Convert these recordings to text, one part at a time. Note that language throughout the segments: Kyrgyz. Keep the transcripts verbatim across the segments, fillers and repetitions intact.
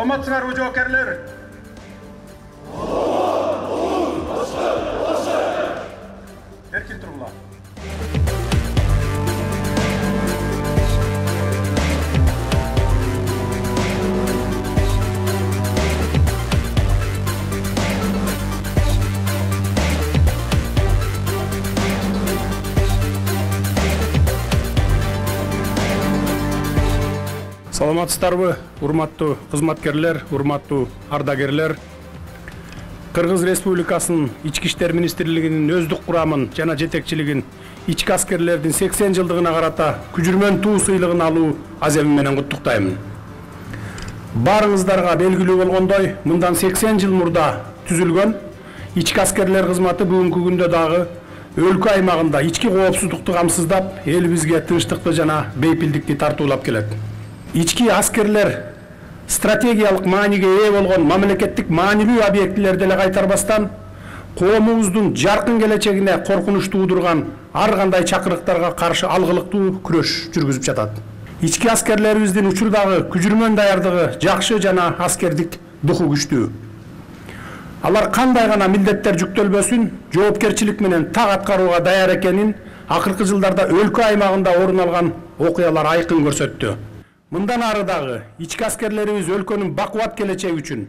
Саламатсыңарбы жоокерлер? Эркин тургула. Саламатсыздарбы, урматтуу кызматкерлер, урматтуу ардагерлер. Кыргыз Республикасынын Ички иштер министрлигинин өздүк курамын жана жетекчилигин ички аскерлердин сексен жылдыгына карата күжүрмөн туу сыйлыгын алуу аземи менен куттуктаймын. Баарыңыздарга белгилүү болгондой, мындан сексен жыл мурда түзүлгөн ички аскерлер кызматы бүгүнкү күндө дагы өлкө аймагында ички коопсуздукту камсыздап, элибизге тынчтыкты жана бейпилдикти тартуулап келет. Ички аскерлер стратегиялык мааниге ээ болгон мамлекеттик маанилүү объектилерди эле кайтарбастан, коомубуздун жаркын келечегине коркунуч туудурган ар кандай чакырыктарга каршы алгылыктуу күрөш жүргүзүп жатат. Ички аскерлерибиздин учурдагы күжүрмөн даярдыгы жакшы жана аскердик духу күчтүү. Алар кандай гана милдеттер жүктөлбөсүн, жоопкерчилик менен так аткарууга даяр экенин акыркы жылдарда өлкө аймагында орун алган окуялар айкын көрсөттү. Мындан ары дагы ички аскерлерибиз өлкөнүн бакубат келечеги үчүн,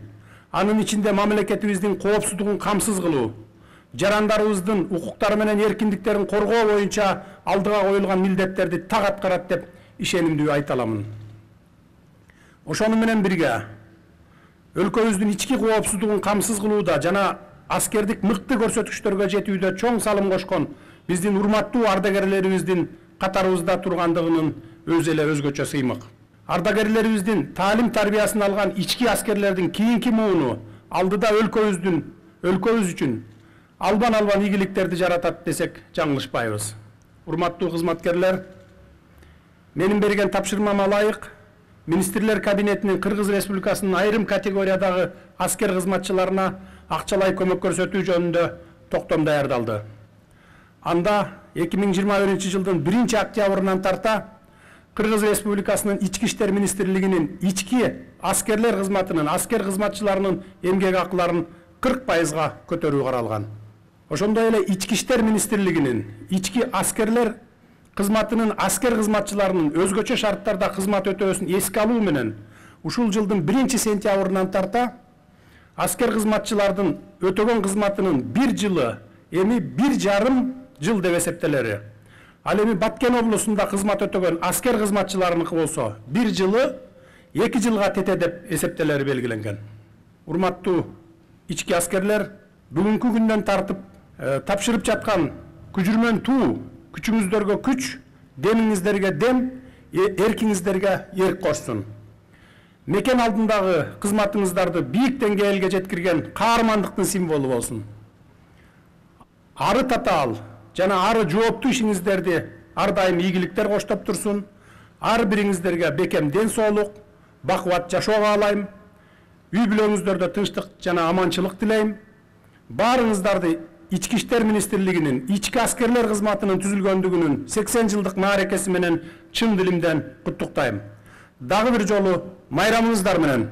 анын ичинде мамлекетибиздин коопсуздугун камсыз кылуу, жарандарыбыздын укуктары менен эркиндиктерин коргоо боюнча алдыга коюлган милдеттерди так аткарат деп ишенимдүү айта аламын. Ошону менен бирге өлкөбүздүн ички коопсуздугун камсыз кылууда жана аскердик мыкты көрсөткүчтөргө жетүүдө чоң салым кошкон биздин урматтуу ардагерлерибиздин катарыбызда тургандыгынын өзү эле өзгөчө сыймык. Ардагерлерибиздин таалим тарбиясын алган ички аскерлердин кийинки мууну алдыда өлкөбүздүн өлкөбүз үчүн албан албан ийгиликтерди жаратат десек жаңылышпайбыз. Урматтуу кызматкерлер, менин берген тапшырмама ылайык Министрлер кабинетинин Кыргыз Республикасынын айрым категориядагы аскер кызматчыларына акчалай көмөк көрсөтүү жөнүндө токтом даярдалды. Анда эки миң жыйырма биринчи жылдын биринчи октябрынан тарта Кыргыз Республикасынын Ички иштер министрлигинин ички аскерлер кызматынын аскер кызматчыларынын эмгек акыларын кырк пайызга көтөрүү каралган. Ошондой эле Ички иштер министрлигинин ички аскерлер кызматынын аскер кызматчыларынын өзгөчө шарттарда кызмат өтөөсүн эске алуу менен ушул жылдын биринчи сентябрынан тарта аскер кызматчылардын өтөгөн кызматынын бир жылы эми бир жарым жыл деп эсептелери. Ал эми Баткен облусунда кызмат өтөгөн аскер кызматчыларыныкы болсо бир жылы эки жылга тете деп эсептелери белгиленген. Урматтуу ички аскерлер, бүгүнкү күндөн тартып э, тапшырып жаткан күжүрмөн туу күчүңүздөргө күч, демиңиздерге дем, эркиңиздерге эрк кошсун. Мекен алдындагы кызматыңыздарды бийик деңгээлге жеткирген каармандыктын символу болсун. Ары татаал жана ары жооптуу ишиңиздерди ар дайым ийгиликтер коштоп турсун. Ар бириңиздерге бекем ден соолук, бакубат жашоо каалайм. Үй бүлөңүздөрдө тынчтык жана аманчылык тилейм. Баарыңыздарды Ички иштер министрлигинин ички аскерлер кызматынын түзүлгөндүгүнүн сексен жылдык мааракеси менен чын дилимден куттуктайм. Дагы бир жолу майрамыңыздар менен.